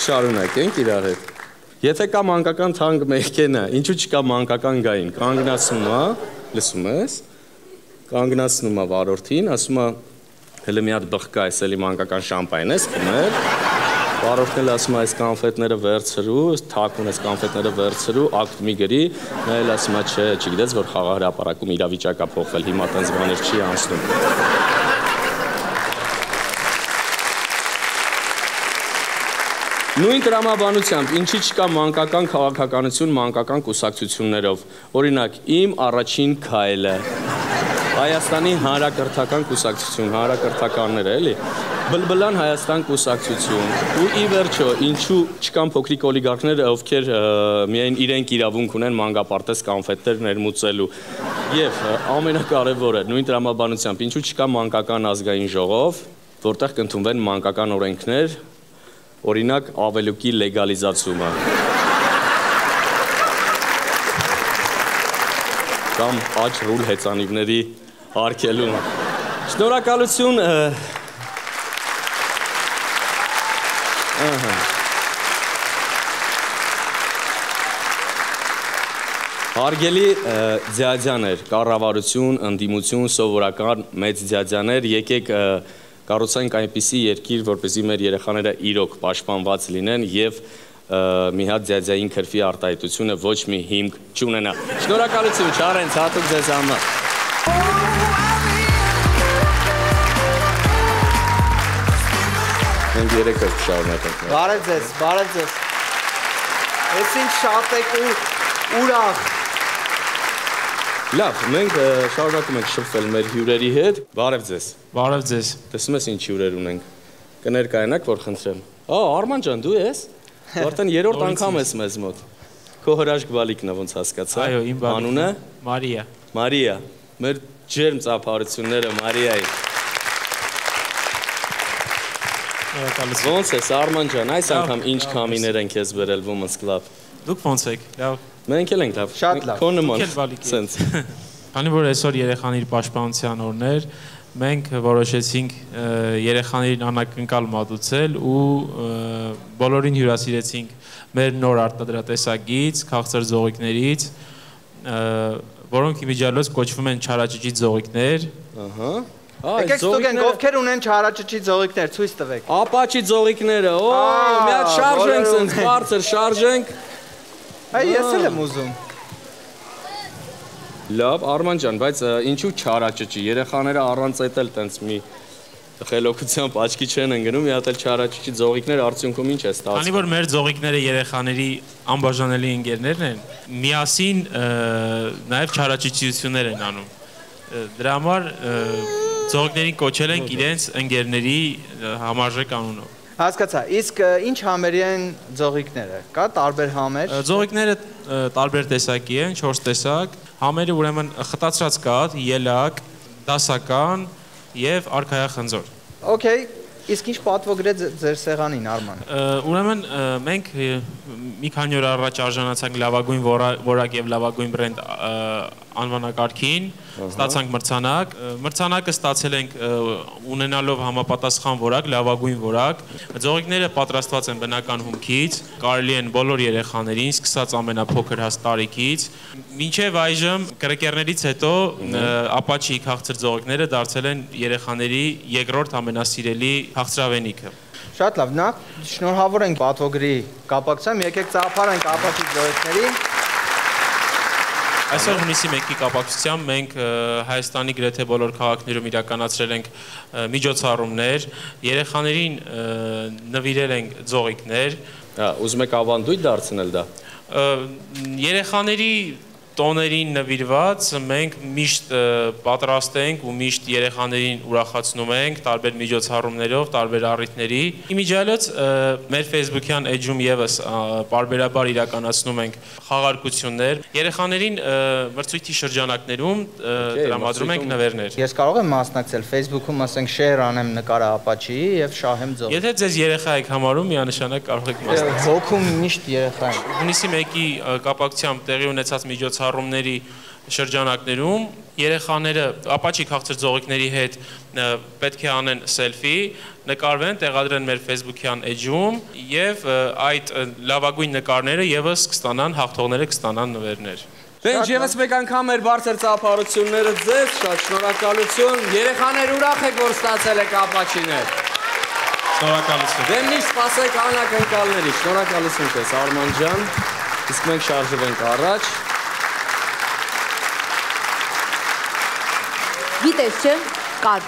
Շարունակենք իրար հետ։ Եթե կա մանկական թանկ մեքենա, ինչու չկա մանկական գային, կանգնացնում է, լսում ես, կանգնացնում է վարորդին, ասում է, հələ մի հատ բխկա ես էլի մանկական շամպայն ես խմել, վարորդն էլ ասում է, այս կանֆետները վերցրու, թաքուն ես կանֆետները վերցրու, ակտ մի գրի, նա էլ ասում է, չէ, չգիտես, որ խաղահրապարակում իրավիճակա փոխվել, հիմա տենց բաներ չի անցնում։ Նույն տրամաբանությամբ, ինչի չկա մանկական քաղաքականություն մանկական կուսակցություններով, օրինակ, իմ առաջին քայլը, Հայաստանի հանրակրթական կուսակցություն, հանրակրթականները, էլի, Բլբլան Հայաստան կուսակցություն, ու ի վերջո, ինչու չկան փոքրիկ օլիգարխները, ովքեր միայն իրենք իրավունք ունեն մանկապարտեզ կանֆետներ ներմուծելու, եւ ամենակարևորը, նույն տրամաբանությամբ, ինչու չկա մանկական ազգային ժողով, որտեղ կընդունվեն մանկական օրենքներ, օրինակ ավելուկի լեգալիզացումը կամ աջ ռուլ հեծանիվների արգելումը։ Շնորհակալություն։ Հարգելի ձյաձյաներ, կառավարություն, ընդդիմություն, սովորական մեծ ձյաձյաներ, եկեք կառուցենք այնպիսի երկիր, որպեսզի մեր երեխաները իրոք պաշտպանված լինեն եւ մի հատ ձյաձյային քրֆի արտահայտությունը ոչ մի հիմք չունենա։ Շնորհակալություն, Չարենց, հատուկ ձեզ համար։ Մենք երեքը կշարունակենք։ Բարև ձեզ, բարև ձեզ։ Էս ինչ շատ եք ու ուրախ։ Լավ, մենք շարունակում ենք շփվել մեր հյուրերի հետ։ Բարև ձեզ։ Բարև ձեզ։ Տեսնում ես ինչ հյուրեր ունենք։ Կներկայանաք, որ խնդրեմ։ Ա, Արման ջան, դու ես։ Արդեն երրորդ անգամ ես մեզ մոտ։ Քո հրաշք բալիկն է, ոնց հասկացա։ Այո, իմ բալիկն։ Անունը Մարիա։ Մարիա։ Մեր ջերմ ծափարությունները Մարիայի։ Շնորհակալություն։ Ոնց ես, Արման ջան, այս անգամ ինչ կամիներ են քեզ բերել Women's Club։ Դուք ոնց եք։ Լավ։ Մենք էլ ենք լավ։ Շատ լավ։ Քո նման։ Դուք էլ բալիկ եք։ Սենց։ Քանի որ այսօր երեխաների պաշտպանության օրն էր, մենք որոշեցինք երեխաներին անակնկալ մատուցել ու բոլորին հյուրասիրեցինք մեր նոր արտադրատեսակից, քաղցր ձողիկներից, որոնք իմիջիալոց կոչվում են չարաճճի ձողիկներ։ Ահա։ Եկեք ստուգենք, ովքեր ունեն չարաճճի ձողիկներ, ցույց տվեք։ Ապաչի ձողիկները, օ, մի հատ շարժենք, սենց բարձր շարժենք։ Այ ես էլ եմ ուզում։ Լավ, Արման ջան, բայց ինչու չարաճճի, երեխաները առանց այդ էլ տենց մի խելոքությամբ աչքի չեն ընկնում, մի հատ էլ չարաճճի ձողիկներ արդյունքում ինչ է ստացվում։ Քանի որ մեր ձողիկները երեխաների անբաժանելի ընկերներն են, միասին նաև չարաճճիություններ են անում։ Դրա համար Ձողիկներին կոչել ենք իրենց ընկերների համարժեք անունով։ Հասկացա, իսկ ինչ համերի են ձողիկները, կա տարբեր համեր։ Ձողիկները տարբեր տեսակի են, չորս տեսակ, համերը ուրեմն խտացրած կաթ, ելակ, դասական և արքայախնձոր։ Okay, իսկ ինչ պատվոգրեց ձեր սեղանին, Արման։ Ուրեմն մենք մի քանի օր առաջ արժանացանք լավագույն որակ և լավագույն բրենդ անվանակարգին, ստացանք մրցանակ, մրցանակը ստացել ենք ունենալով համապատասխան որակ, լավագույն որակ, ձողիկները պատրաստված են բնական հումքից, կարելի են բոլոր երեխաներին, սկսած ամենափոքր հաստ տարիքից, մինչև այժմ կրկերներից հետո ապաչի քաղցր ձողիկները դարձել են երեխաների երկրորդ ամենասիրելի քաղցրավենիքը։ Շատ լավ, նախ շնորհավոր ենք պատվոգրի կապակցությամբ, եկեք ծափարենք ապաչի ձողիկների։ Այսօր հունիսի մեկի կապակցությամբ մենք Հայաստանի գրեթե բոլոր քաղաքներում իրականացրել ենք միջոցառումներ, երեխաներին նվիրել ենք ձողիկներ։ Ուզում եք ավանդույթ դարձնել դա։ Երեխաների տոներին նվիրված մենք միշտ պատրաստ ենք ու միշտ երեխաներին ուրախացնում ենք տարբեր միջոցառումներով, տարբեր առիթների։ Իմիջիայլոց մեր Facebook-յան էջում եւս պարբերաբար իրականացնում ենք խաղարկություններ։ Երեխաներին մրցույթի շրջանակներում տրամադրում ենք նվերներ։ Ես կարող եմ մասնակցել Facebook-ում, ասենք share անեմ նկարը ապաչիի եւ շահեմ ձող։ Եթե ձեզ երեխա եք համարում, միանշանակ կարող եք մասնակցել։ Հոգում միշտ երեխա են։ Հունիսի մեկի կապակցությամբ տեղի ունեցած միջոցառումների շրջանակներում երեխաները ապաչի քաղցր ձողիկների հետ պետք է անեն սելֆի, նկարվեն, տեղադրեն մեր Facebook-յան էջում եւ այդ լավագույն նկարները եւս կստանան, հաղթողները կստանան նվերներ։ Դե ինչ եւս մեկ անգամ մեր բարձր ծափարությունները ձեզ, շատ շնորհակալություն։ Երեխաներ ուրախ եք, որ ստացել եք ապաչիներ։ Շնորհակալություն։ Դե միշտ սպասեք անակնկալների։ Շնորհակալություն քեզ, Արման ջան։ Իսկ մենք շարժվենք առաջ։ Գիտես չէ, կար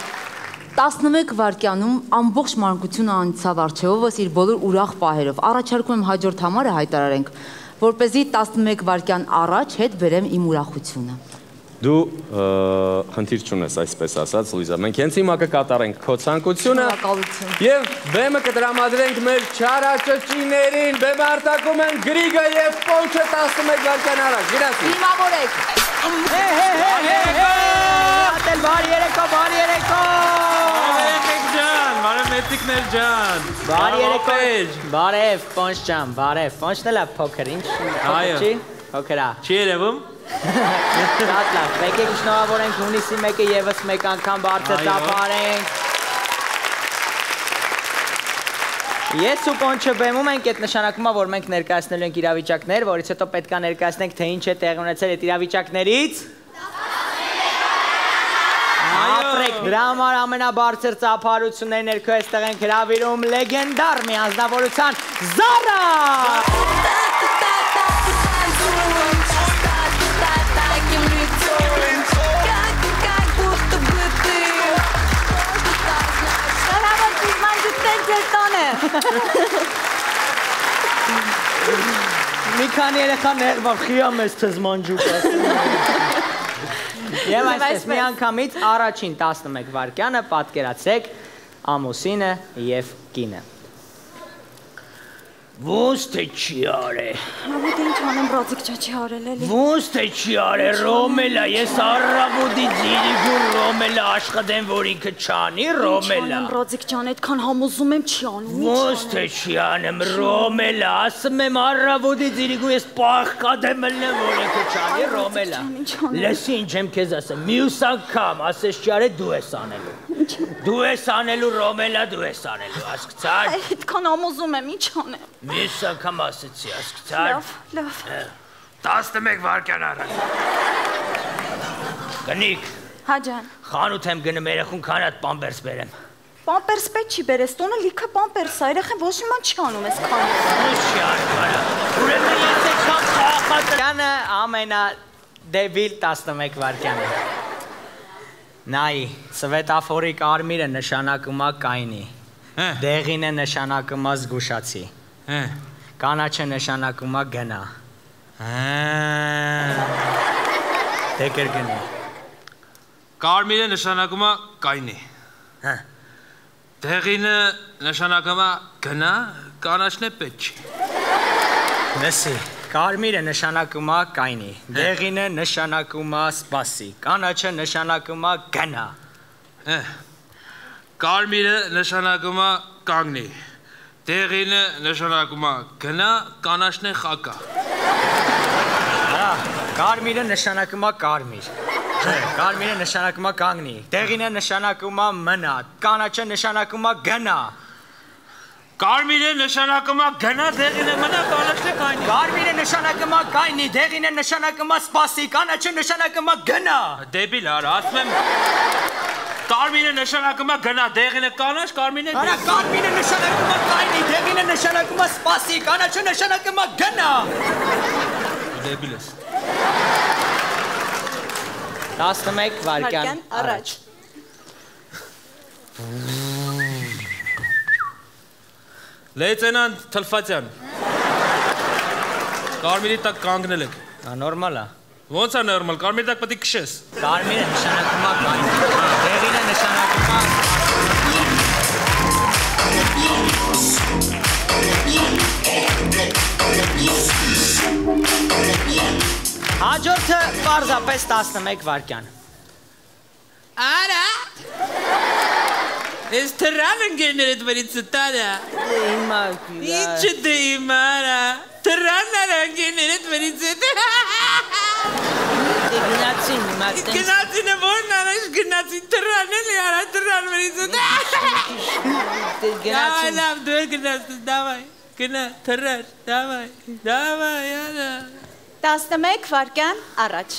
տասնմեկ վայրկյանում ամբողջ մանկությունը անցավ առջևովս իր բոլոր ուրախ պահերով։ Առաջարկում եմ հաջորդ համարը հայտարարենք, որպեսզի տասնմեկ վայրկյան առաջ հետ բերեմ իմ ուրախությունը։ Դու խնդիր չունես, այսպես ասած, Լուիզա, մենք հենց հիմա կկատարենք քո ցանկությունը եւ բեմը կտրամադրենք մեր չարաճճիներին, բեմը արտակում են Գրիգը եւ Պոնչը տասնմեկ վայրկյան առաջ։ Գրասի։ Դիմավորեք։ Հե հե հե հե։ Ատել բարի երեկո, բարի երեկո։ Բարև ջան, բարև մեծիկներ ջան։ Բարի երեկո։ Բարև Պոնչ ջան, բարև։ Պոնչն էլ է փոքր, ինչ փոքր չի։ Փոքր է։ Չի երևում։ Շատ լավ, եկեք շնորհավորենք հունիսի մեկը եւս մեկ անգամ բարձր ծափարենք։ Ես ու Պոնչը բեմում ենք, այդ նշանակում է, որ մենք ներկայացնելու ենք իրավիճակներ, որից հետո պետք է ներկայացնենք, թե ինչ է տեղի ունեցել այդ իրավիճակներից։ Ապրեք, դրա համար ամենաբարձր ծափարությունների ներքո այստեղ ենք հրավիրում լեգենդար մի անձնավորության Զարա։ Մի քանի երեխա ներվավ խիամ ես թզմանջուկ ասում։ Եվ այսպես մի անգամից առաջին տասնմեկ վայրկյանը պատկերացրեք ամուսինը եւ կինը։ Ոնց թե չի արել։ Հավոտ ինչ անեմ ռոձիկ չի արել էլի։ Ոնց թե չի արել Ռոմելա, ես առավոտի ձիրիգու Ռոմելա աշխատեմ, որ ինքը չանի Ռոմելա։ Չանեմ ռոձիկ ջան, այդքան համոզում եմ չի անում։ Ոնց թե չի անեմ Ռոմելա, ասում եմ առավոտի ձիրիգու ես պաղկադեմ ելնեմ, որ ինքը չանի Ռոմելա։ Լսի ինչ եմ քեզ ասեմ, մյուս անգամ ասես չի արել դու ես անելու։ Դու ես անելու Ռոմելա, դու ես անելու, հասկացար։ Այդքան համոզում եմ, ինչ անեմ։ Մյուս անգամ ասեցի, հասկացար։ Լավ, լավ։ տասնմեկ վայրկյան առաջ։ Գնիկ։ Հա ջան։ Խանութ եմ գնում երեխուն քան հատ պամպերս բերեմ։ Պամպերս պետք չի բերես, տոնը լիքը պամպերս է, երեխան ոչ մի բան չի անում այս քանը։ Ոչ չի անում։ Ուրեմն ես եկամ խաղաղականը ամենադեբիլ տասնմեկ վայրկյանը։ Նայ, Սվետաֆորի կարմիրը նշանակում է կայնի։ Դեղին է նշանակում է զգուշացի։ Կանաչը նշանակում է գնա։ Դե կրկնի։ Կարմիրը նշանակում է կայնի։ Հա։ Դեղինը նշանակում է գնա, կանաչն է պետք չի։ Լսի, կարմիրը նշանակում է կայնի, դեղինը նշանակում է սպասի, կանաչը նշանակում է գնա։ Կարմիրը նշանակում է կանգնի, դեղինը նշանակում է գնա, կանաչն է խակա։ Արա, կարմիրը նշանակում է կարմիր, կարմիրը նշանակում է կանգնի, դեղինը նշանակում է մնա, կանաչը նշանակում է գնա։ Կարմիրը նշանակում է գնա, դեղինը մնա, կանաչն է կայնի։ Կարմիրը նշանակում է կայնի, դեղինը նշանակում է սպասի, կանաչը նշանակում է գնա։ Դեբիլ արա, ասում եմ Կարմիրը նշանակում է գնա, դեղինը կանաչ, կարմիրն է դեղին։ Արա, կարմիրը նշանակում է կայնի, դեղինը նշանակում է սպասի, կանաչը նշանակում է գնա։ Դեբիլ ես։ տասնմեկ վայրկյան առաջ։ Լեյտենանտ Թլֆատյան։ Կարմիրի տակ կանգնել եք։ Նորմալ է։ Ոնց է նորմալ, կարմիրի տակ պետք է քշես։ Կարմիրը նշանակում է կայնի, դեղինը նշանակում է Հաջորդը պարզապես տասնմեկ վայրկյան։ Արա։ Ես թռան ընկերներդ վերից ստարա։ Հիմա Ինչը դե հիմա արա։ Թռան արա ընկերներդ վերից ստարա։ Գնացին հիմա տենց։ Գնացին է որն անաշ գնացին թռան էլի արա թռան վերից ստարա։ Գնացին։ Լավ դու էլ գնացին, դավայ, գնա, թռար, դավայ, դավայ արա։ տասնմեկ վայրկյան առաջ։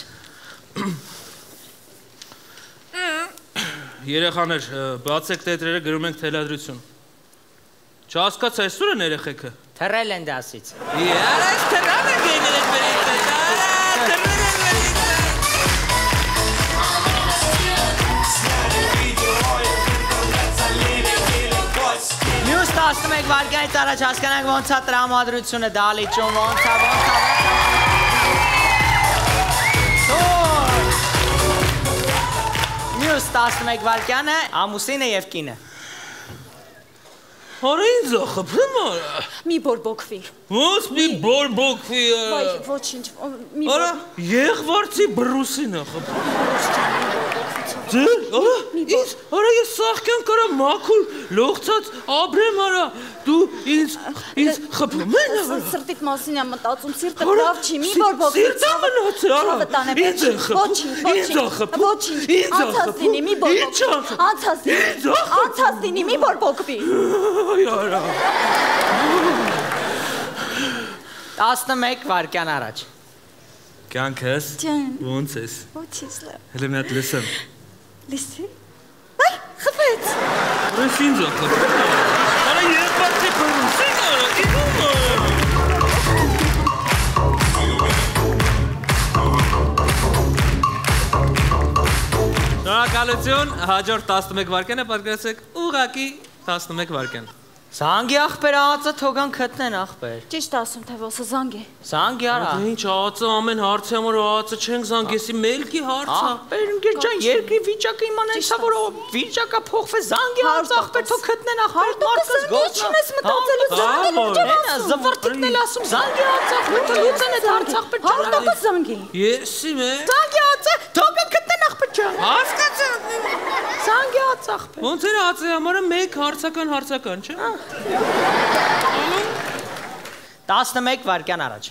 Երեխաներ, բացեք տետրերը, գրում ենք թելադրություն։ Չհասկաց այսօր են երեխեքը։ Թռել են դասից։ Արա, այս թռան են գենել են վերից, արա, թռել են վերից։ Մյուս տասնմեկ վայրկյանից առաջ հասկանանք ոնց է տրամադրությունը դալիճում, ոնց է, ոնց է, Մյուս տասնմեկ վայրկյանը ամուսինը և կինը։ Արա ինձ է խփում արա։ Մի բորբոքվի։ Ոնց մի բորբոքվի արա։ Վայ, ոչինչ, մի Արա, եղվարցի բրուսին է խփում։ Ձեր, արա, ինձ, արա ես սաղկյան կարա մաքուր, լողցած ապրեմ արա, դու ինձ, ինձ խփում են արա։ Սրտիտ մասին եմ մտածում, սիրտը լավ չի, մի բորբոքվի։ Սիրտը մնացի արա, ինձ է խփում, ինձ է խփում, ոչինչ, ինձ է անցած լինի, մի բորբոքվի, անցած լինի, ինձ է խփում, անցած լինի, մի բորբոքվի։ Արա։ տասնմեկ վայրկյան առաջ։ Կյանքս, ոնց ես։ Ոչինչ լավ։ Հələ մի հատ լսեմ։ Լսի։ Այ, խփեց։ Ուրես ինձ է խփում։ Արա եղբարցի բրուսին արա, իդում արա։ Շնորհակալություն, հաջորդ տասնմեկ վայրկյանը պատկերացրեք ուղղակի տասնմեկ վայրկյան։ Զանգի աղբեր ածը թողան գտնեն աղբեր։ Ճիշտ ասում թե ոսը զանգի։ Զանգի արա։ Ինչ ածը ամեն հարցի համար ածը չենք զանգեսի մելքի հարցը։ Աղբեր ընկեր ջան, երկրի վիճակը իմանանք սա որ վիճակը փոխվե զանգի ած աղբեր թող գտնեն աղբեր մարդկս գործ չես մտածելու զանգի։ Զվարթիկն էլ ասում զանգի ած աղբեր լուծեն է հարց աղբեր ջան։ Հարտոկս զանգի։ Եսի մե։ Զանգի ածը թող գտնեն աղբեր ջան։ Հասկացա։ Զանգի ած աղբեր։ Ոնց էր ածի համար մեկ հարցական հարցական, չէ՞։ տասնմեկ վայրկյան առաջ։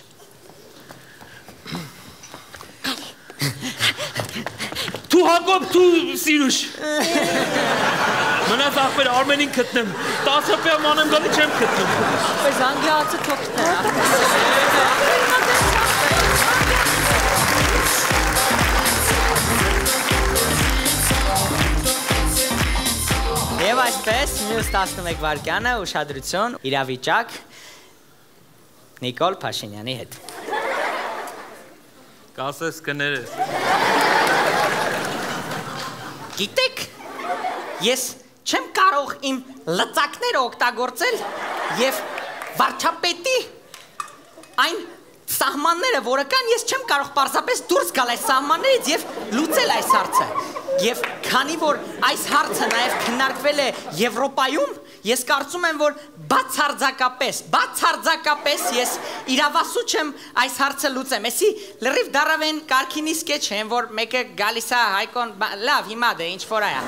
Դու Հակոբ, դու Սիրուշ։ Մնաց աղբեր Արմենին գտնեմ։ տասը պիամ անեմ գալի չեմ գտնում։ Բայց զանգի ածը թող գտնեն։ Եվ այսպես մյուս տասնմեկ վայրկյանը ուշադրություն, իրավիճակ Նիկոլ Փաշինյանի հետ։ Կասես կներես։ Գիտեք, ես չեմ կարող իմ լծակները օգտագործել եւ վարչապետի այն սահմանները, որը կան, ես չեմ կարող պարզապես դուրս գալ այս սահմաններից եւ լուծել այս հարցը։ Եվ քանի որ այս հարցը նաև քննարկվել է Եվրոպայում, ես կարծում եմ, որ բացարձակապես, բացարձակապես ես իրավասու չեմ այս հարցը լուծեմ։ Էսի լրիվ դարավեն կարքինի սկեչ են, որ մեկը գալիս է Հայկոն, լավ, հիմա դե ինչ որ այա։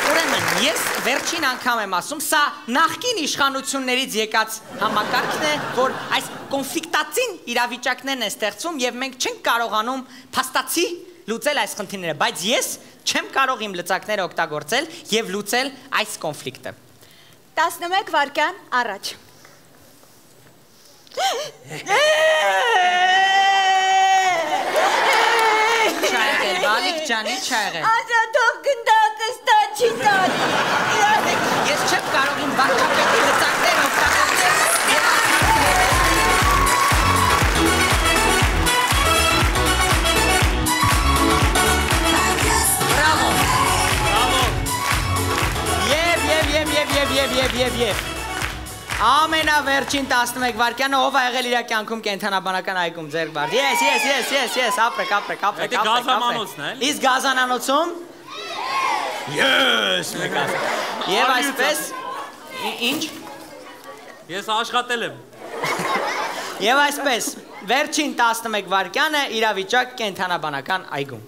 Ուրեմն, ես վերջին անգամ եմ ասում, սա նախկին իշխանություններից եկած համակարգն է, որ այս կոնֆլիկտացին իրավիճակներն են ստեղծում եւ մենք չենք կարողանում փաստացի լուծել այս խնդիրները, բայց ես չեմ կարող իմ լծակները օգտագործել եւ լուծել այս կոնֆլիկտը։ տասնմեկ վայրկյան առաջ։ Չայղել, բալիկ ջանի, չայղել։ Ասա թող գնդակը ստա չի տալի։ Ես չեմ կարող իմ վարչապետի լծակները օգտագործել։ Բրավո։ Բրավո։ Եվ, եւ, եւ, եւ, եւ, եւ, եւ, եւ, եւ։ Ամենավերջին տասնմեկ վայրկյանը ով ա եղել իր կյանքում կենթանաբանական այգում ձեռք բարձ։ Yes, yes, yes, yes, yes, ապրեք, ապրեք, ապրեք, ապրեք։ Դա գազանանոցն է։ Իսկ գազանանոցում։ Yes, մեկաս։ Եվ այսպես ինչ։ Ես աշխատել եմ։ Եվ այսպես վերջին տասնմեկ վայրկյանը իրավիճակ կենթանաբանական այգում։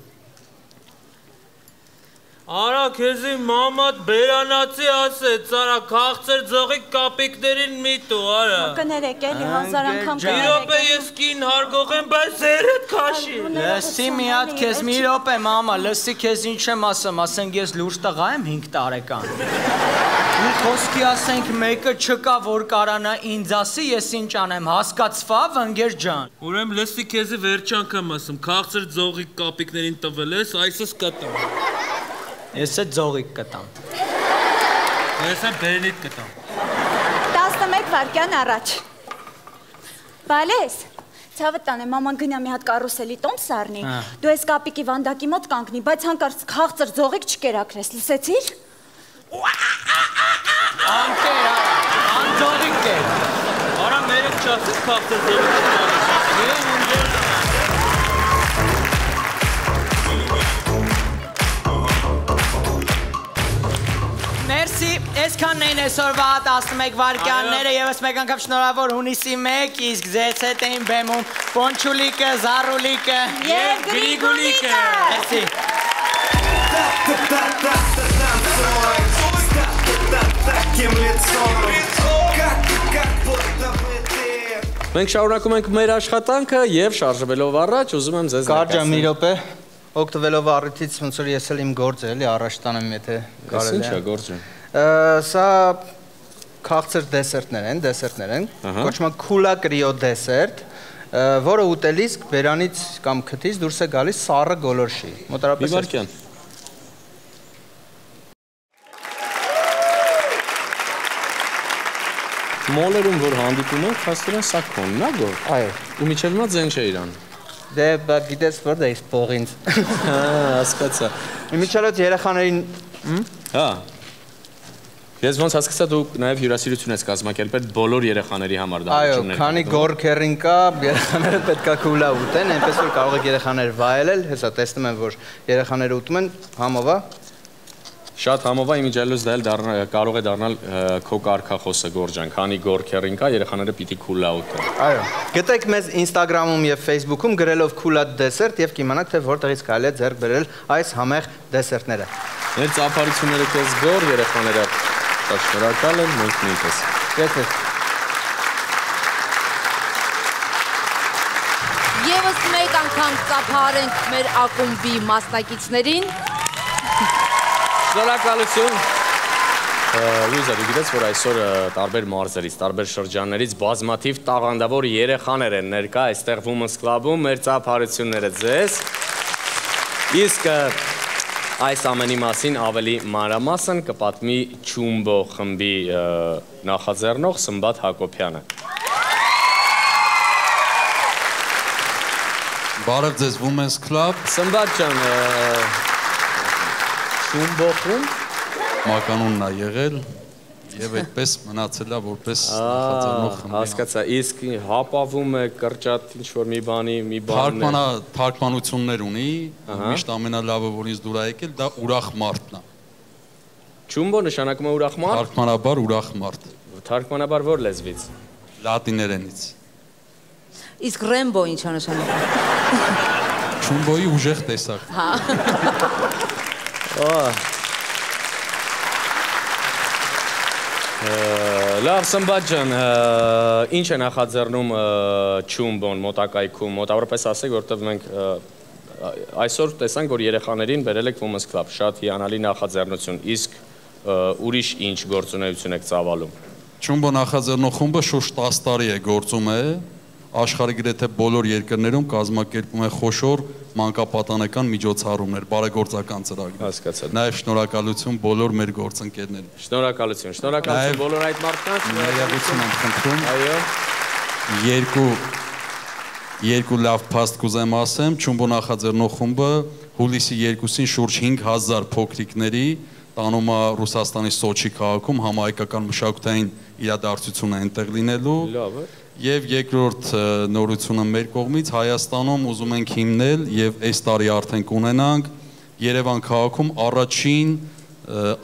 Արա քեզի մամատ բերանացի ասեց, արա քաղցր ձողի կապիկներին միտու, արա։ Կներեք էլի հազար անգամ կներեք։ Մի րոպե ես կին հարգող եմ, բայց զերդ քաշի։ Լսի մի հատ քեզ մի րոպե մամա, լսի քեզ ինչ եմ ասում, ասենք ես լուրջ տղա եմ հինգ տարեկան։ Ու խոսքի ասենք մեկը չկա, որ կարանա ինձ ասի, ես ինչ անեմ, հասկացվավ ընկեր ջան։ Ուրեմն լսի քեզի վերջ անգամ ասում, քաղցր ձողի կապիկներին տվել ես, այսս կտամ։ Ես է ձողիկ կտամ։ Ես է բերնիտ կտամ։ տասնմեկ վայրկյան առաջ։ Բալես, ցավը տանե, մաման գնա մի հատ կարուսելի տոմ սառնի, դու ես կապիկի վանդակի մոտ կանգնի, բայց հանկարծ քաղցր ձողիկ չկերակրես, լսեցիր։ Անկեր, արա, անձողիկ կեր։ Արա մերեք չասես քաղցր ձողիկ։ Մերսի, այսքանն էին այսօրվա տասնմեկ վայրկյանները եւ ես մեկ անգամ շնորհավոր հունիսի մեկ, իսկ ձեզ հետ էին բեմում Պոնչուլիկը, Զարուլիկը եւ Գրիգուլիկը։ Մերսի։ Մենք շարունակում ենք մեր աշխատանքը եւ շարժվելով առաջ ուզում եմ ձեզ Կարճ մի րոպե օգտվելով առիթից ոնց որ ես էլ իմ գործը էլի առաջ տանեմ եթե կարելի է։ Ինչ է գործը։ Սա քաղցր դեսերտներ են, դեսերտներ են, կոչվում է քուլա կրիո դեսերտ, որը ուտելիս բերանից կամ քթից դուրս է գալիս սառը գոլորշի։ Մոտարապես Բիվարքյան։ Մոլերում որ հանդիպում ենք, հասկացան սա քոնն է գոր։ Այո։ Ու միջև հիմա ձեն չէ իրան։ Դե գիտես որ դա իսկ փողինց։ Հա, հասկացա։ Իմիջիայլոց երեխաներին, հա։ Ես ոնց հասկացա դու նաև հյուրասիրություն ես կազմակերպել բոլոր երեխաների համար Այո, դահլիճումներ։ քանի գորքերին կա, երեխաները պետքա քուլա ուտեն, այնպես որ կարող եք երեխաներ վայելել, հեսա տեսնում եմ որ երեխաները ուտում են համովա։ Շատ համովա իմիջիայլոց դա էլ կարող է դառնալ քո կարգախոսը Գորջան, քանի գորքերին կա, երեխաները պիտի քուլա ուտեն։ Այո։ Գտեք մեզ Instagram-ում եւ Facebook-ում գրելով քուլա դեսերտ եւ կիմանաք թե որտեղից կարելի է ձեռք բերել այս համեղ դեսերտները։ Մեր ծափարությունները քեզ գոր, երեխաները շատ շնորհակալ են, մենք նույնպես։ Գետես։ Եվս մեկ անգամ ծափարենք մեր ակումբի մասնակիցներին։ Շնորհակալություն։ Լուիզա, դու գիտես, որ այսօր տարբեր մարզերից, տարբեր շրջաններից բազմաթիվ տաղանդավոր երեխաներ են ներկա այստեղ Women's Club-ում, մեր ծափարությունները ձեզ։ Իսկ այս ամենի մասին ավելի մանրամասն կպատմի Չումբո խմբի նախաձեռնող Սմբատ Հակոբյանը։ Բարև ձեզ Women's Club։ Սմբատ ջան, Չումբո խումբ Մականունն է եղել։ Եվ այդպես մնացել է որպես նախաձեռնող խմբի։ Հասկացա, իսկ հապավում է կրճատ ինչ-որ մի բանի, մի բան։ Թարգմանություններ ունի, միշտ ամենալավը, որ ինձ դուր է եկել, դա ուրախ մարդն է։ Չումբո նշանակում է ուրախ մարդ։ Թարգմանաբար ուրախ մարդ։ Թարգմանաբար որ լեզվից։ Լատիներենից։ Իսկ Ռեմբո ինչ է նշանակում։ Չումբոյի ուժեղ տեսակ։ Հա։ Լավ, Սմբատ ջան, ինչ է նախաձեռնում Չումբոն մոտակայքում, մոտավորապես ասեք, որտեղ մենք այսօր տեսանք, որ երեխաներին բերել եք Women's Club, շատ հիանալի նախաձեռնություն, իսկ ուրիշ ինչ գործունեություն եք ծավալում։ Չումբո նախաձեռնող խումբը շուրջ տասը տարի է գործում է, աշխարհի գրեթե բոլոր երկրներում կազմակերպում է խոշոր մանկապատանեկան միջոցառումներ, բարեգործական ծրագրեր։ Հասկացա։ Նաև շնորհակալություն բոլոր մեր գործընկերներին։ Շնորհակալություն, շնորհակալություն բոլոր այդ մարդկանց։ Ներողություն եմ խնդրում։ Այո։ Երկու երկու լավ փաստ կուզեմ ասեմ, Չումբո նախաձեռնող խումբը հուլիսի երկուսին շուրջ հինգ հազար փոքրիկների տանում է Ռուսաստանի Սոչի քաղաքում համահայկական մշակութային իրադարձություն է այնտեղ լինելու։ Լավ է։ Եվ երկրորդ նորությունը մեր կողմից Հայաստանում ուզում ենք հիմնել եւ այս տարի արդեն կունենանք Երևան քաղաքում առաջին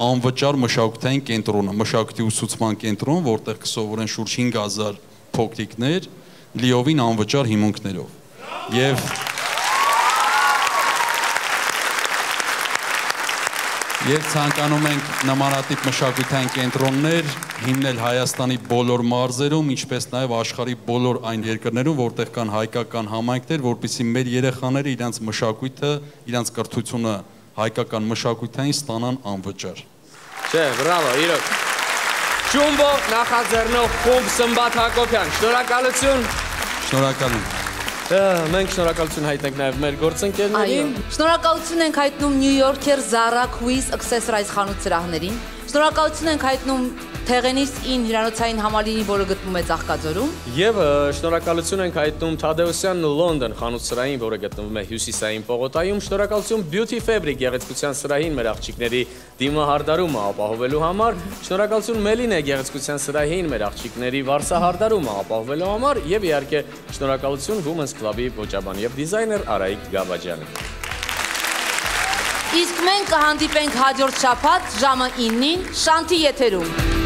անվճար մշակութային կենտրոնը, մշակույթի ուսուցման կենտրոն, որտեղ կսովորեն շուրջ հինգ հազար փոքրիկներ լիովին անվճար հիմունքներով։ Եվ Եվ ցանկանում ենք նմանատիպ մշակութային կենտրոններ հիմնել Հայաստանի բոլոր մարզերում, ինչպես նաև աշխարհի բոլոր այն երկրներում, որտեղ կան հայկական համայնքներ, որպեսզի մեր երեխաները իրենց մշակույթը, իրենց կրթությունը հայկական մշակութային ստանան անվճար։ Չէ, բրավո, իրոք։ Չումբո նախաձեռնող խումբ Սմբատ Հակոբյան, շնորհակալություն։ Շնորհակալություն։ Մենք շնորհակալություն հայտնենք նաև մեր գործընկերներին։ Շնորհակալություն ենք հայտնում New Yorker Zara Quiz Accessories խանութ սրահներին։ Շնորհակալություն ենք հայտնում Թեղենիս ին հյուրանոցային համալիրին, որը գտնվում է Ծաղկաձորում։ Եվ շնորհակալություն ենք հայտնում Թադեոսյան Լոնդոն խանութ-սրահին, որը գտնվում է Հյուսիսային պողոտայում։ Շնորհակալություն Beauty Fabric գեղեցկության սրահին մեր աղջիկների դիմահարդարումը ապահովելու համար։ Շնորհակալություն Մելինե գեղեցկության սրահին մեր աղջիկների վարսահարդարումը ապահովելու համար եւ իհարկե շնորհակալություն Women's Club-ի ոճաբան եւ դիզայներ Արայիկ Գաբաջյանը։ Իսկ մենք կհանդիպենք հաջորդ շաբաթ ժամը իննին Շանթի եթերում։